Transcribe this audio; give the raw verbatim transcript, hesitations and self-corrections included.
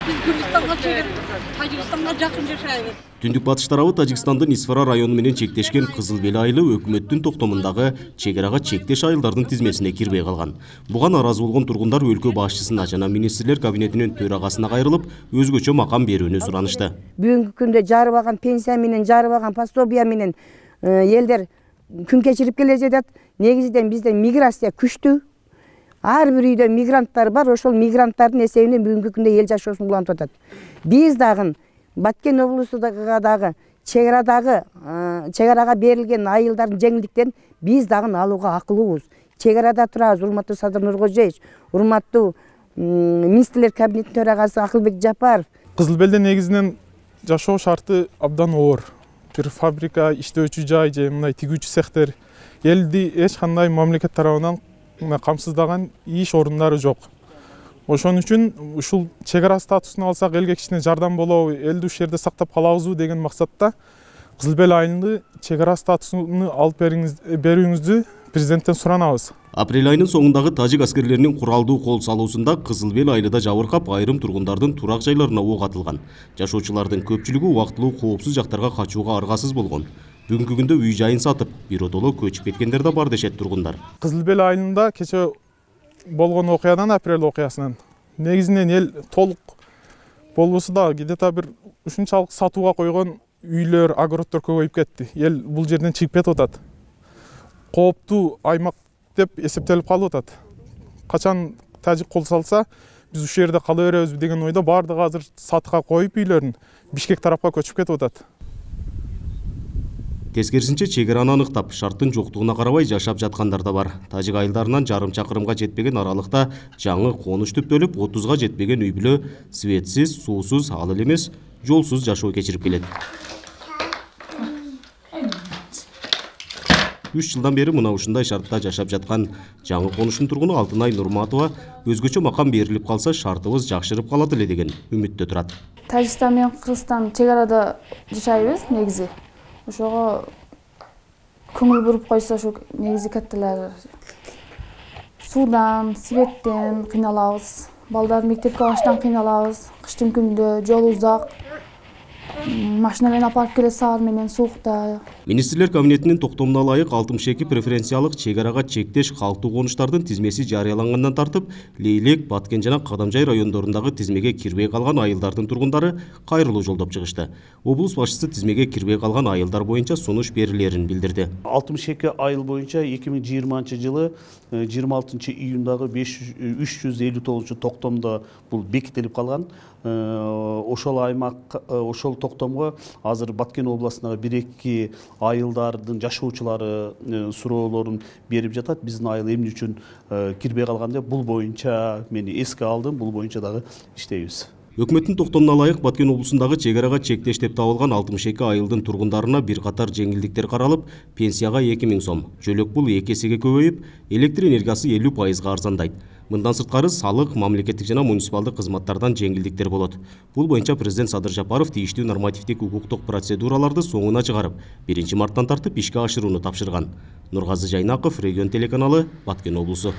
Биз Кыргызстанга чейин Тажикстанга жакын жашайбыз. Түндүк батыш тарабы Тажикстандын Исфара району менен чектешкен Кызыл Бел айылы өкмөттүн токтомундагы чек арага чектеш айылдардын тизмесине кирбей калган. Буга нааразы болгон тургундар өлкө башчысына жана министрлер кабинетинин төрагасына кайрылып, өзгөчө макам берүүнү суранышты. Бүгүнкү күндө жарыбаган пенсия менен, жарыбаган пособия менен элдер күн кечирип келе жатат. Негизинен бизде миграция күчтүү. Ар бир үйдө мигранттар бар, ошол мигранттардын эсебинен бүгүнкү күндө эл жашоосун улантып атат. Биз дагы Баткен облусундагы дагы чек арадагы чек арага берилген айылдардын жеңилдиктерин биз дагы алууга акылыбыз. Чек арада турабыз, урматтуу Садыр Нуркожоевич, урматтуу министрлер кабинетинин төрагасы Акылбек Жапаров. Кызыл Белде негизинен жашоо шарты абдан оор. Бир фабрика, иштөөчү жай же мындай тигүүчү цехтер элди эч кандай мамлекет тарабынан камсыздаган иш орундары жок. Ошон үчүн ушул чек ара статусун алсак элге кичине жардам болобу, элди ушул жерде сактап калабызбы деген максатта Кызыл Бел айылында чек ара статусун алып берүүңүздү президенттен суранабыз. Апрель айынын соңундагы тажик аскерлеринин куралдуу кол салуусунда Кызыл Бел айылда жабыркап, айрым тургундардын турак жайларына ок атылган. Жашоочулардын көпчүлүгү убактылуу коопсуз жактарга качууга аргасыз болгон. Бүгүнкү күндө үй жайын сатып, биротоло көчүп кеткендер да бар дешет тургундар. Кызыл Бел айылында кече болгон окуядан, апрель окуясынан негизинен эл толук болбосо да где-то бир ушунчалык сатууга койгон үйлөр, огороддор көбөйүп кетти. Эл бул жерден чыгып кетип атат. Кооптуу аймак деп эсептелип калып атат. Качан тажик кол салса, биз ушул жерде кала беребиз деген ойдо баардыгы азыр сатыкка коюп үйлөрүн Бишкек тарапка көчүп кетип атат. Тескерисинче чек араны аныктап, шарттын жоктугуна карабай жашап жаткандар да бар. Тажик айылдарынан жарым чакырымга жетпеген аралыкта жаңы конуш түптөлүп, отузга жетпеген үй бүлө светсиз, суусуз, ал эле эмес, жолсуз жашоо кечирип келет. үч жылдан бери мына ушундай шартта жашап жаткан жаңы конуштун тургуну Алтынай Нурматова өзгөчө макам берилип калса, шартыбыз жакшырып калат эле деген үмүттө турат. Тажикстан менен Кыргызстан чек арада жашайбыз негизи. Ошого көңүл буруп койсо, ошо негизи катталар. Суудан, светтен кыйналабыз. Балдар мектепке барыштан кыйналабыз. Кыштын күндө жол узак. Машина менен апарып келет саар менен суукта. Министрлер кабинетинин токтомуна ылайык алтымыш эки преференциялык чек арага чектеш калктуу конуштардын тизмеси жарыялангандан тартып, Лейлек, Баткен жана Кадамжай райондорундагы тизмеге кирбей калган айылдардын тургундары кайрылуу жолдоп чыгышты. Облус башчысы тизмеге кирбей калган айылдар боюнча сунуш берилерин билдирди. алтымыш эки айыл боюнча эки миң жыйырманчы жылы жыйырма алтынчы июндагы үч жүз элүү тогузунчу токтомдо бул бекитилип калган. Ошол аймак, ошол токтомго азыр Баткен областындагы бир эки айылдардын жашоочулары суроолорун берип жатат. Биздин айыл эмне үчүн кирбей калган деп бул боюнча мени эске алдым, бул боюнча дагы иштейбиз. Өкмөттүн токтомуна ылайык Баткен облусундагы чек арага чектеш деп табылган алтымыш эки айылдын тургундарына бир катар жеңилдиктер каралып, пенсияга эки миң сом, жөлөк пул эки эсеге көбөйүп, электр энергиясы элүү пайызга арзандайт. Мындан сырткары салык, мамлекеттик жана муниципалдык кызматтардан жеңилдиктер болот. Бул боюнча президент Садыр Жапаров тийиштүү нормативдик укуктук процедураларды соңуна чыгарып, биринчи марттан тартып ишке ашырууну тапшырган. Нургазы Жайнаков, Регион телеканалы, Баткен облусу.